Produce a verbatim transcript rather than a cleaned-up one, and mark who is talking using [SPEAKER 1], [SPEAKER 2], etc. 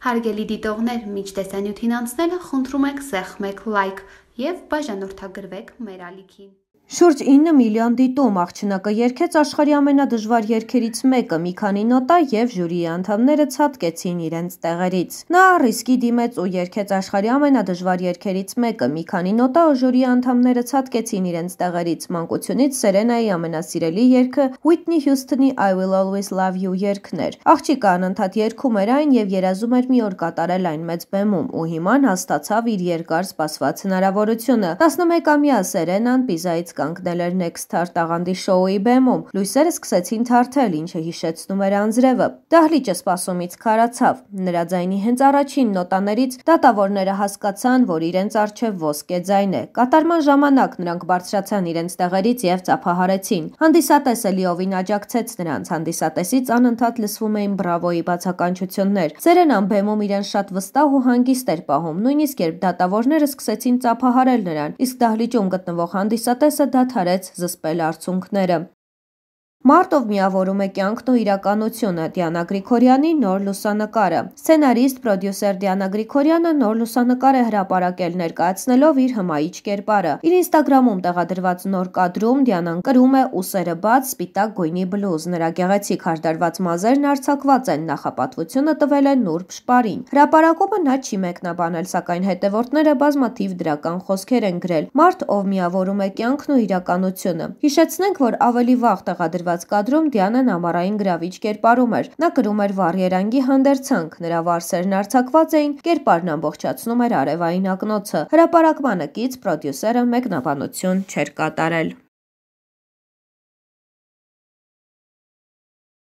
[SPEAKER 1] Հարգելի դիտողներ, մինչ տեսանյութին անցնելը խնդրում ենք սեղմեք լայք և բաժանորդագրվեք մեր ալիքին։
[SPEAKER 2] Շուրջ ինը միլիոն դիտում աղջնակը երգեց աշխարհի ամենադժվար երգերից մեկը, մի քանի նոտա և ժյուրիի անդամները ցատկեցին իրենց տեղերից։ Նա ռիսկի դիմեց ու երգեց աշխարհի ամենադժվար երգերից մեկը, մի քանի նոտա ու ժյուրիի անդամները ցատկեցին իրենց տեղերից։ Մանկությունից Սերենայի ամենասիրելի երգը Whitney Houston-ի I Will Always Love You երգն էր։ Աղջիկը անընդհատ երգում էր այն և երազում էր մի օր կատարել այն մեծ բեմում, ու հիմա հասկացավ իր երկար սպասված հնարավորությունը։ տասնմեկամյա Սերենան Պիզայից կանգնել էր Next Star տաղանդի շոուի բեմում։ Լույսերը սկսեցին թարթել, ինչը հիշեցնում էր անձրևը։ Դահլիճը սպասումից քարացավ։ Նրա ձայնի հենց առաջին նոտաներից դատավորները հասկացան, որ իրենց առջև ոսկե ձայն է։ Կատարման ժամանակ նրանք բարձրացան իրենց տեղերից և ծափահարեցին։ Հանդիսատեսը լիովին աջակցեց նրանց։ Հանդիսատեսից անընդհատ լսվում էին բրավոյի բացականչություններ։ Սերենան բեմում իրեն շատ վստահ ու հանգիստ էր պահում, նույնիսկ երբ դատավորները սկսեցին ծափահարել նրան, իսկ դահլիճում գտնվող հանդիսատեսը դադարեց զսպել արցունքները։ Մարտ, ով միավորում է կյանքն ու իրականությունը։ Դիանա Գրիգորյանի նոր լուսանկարը։ Սցենարիստ, պրոդյուսեր Դիանա Գրիգորյանը նոր լուսանկար է հրապարակել, ներկայացնելով իր հմայիչ կերպարը։ Իր ինստագրամում տեղադրված նոր կադրում Դիանան կրում է ուսերը բաց, սպիտակ գույնի բլուզ։ Նրա գեղեցիկ հարդարված մազերն արձակված են, նախապատվությունը տվել է Նուրբ Շպարին։ Հրապարակումը նա չի մեկնաբանել, սակայն հետևորդները բազմաթիվ դրական խոսքեր են գրել։ Մարտ, ով միավորում է կյանքն ու իրականությունը։ Հիշեցնենք, որ ավելի վաղ տեղադրված կադրում Դիանան ամառային գրավիչ կերպարում էր։ Նա կրում էր վառ երանգի հանդերձանք, նրա վարսերն արձակված էին, կերպարն ամբողջացնում էր արևային ակնոցը։ Հրապարակմանը կից պրոդյուսերը մեկնաբանություն չէր կատարել։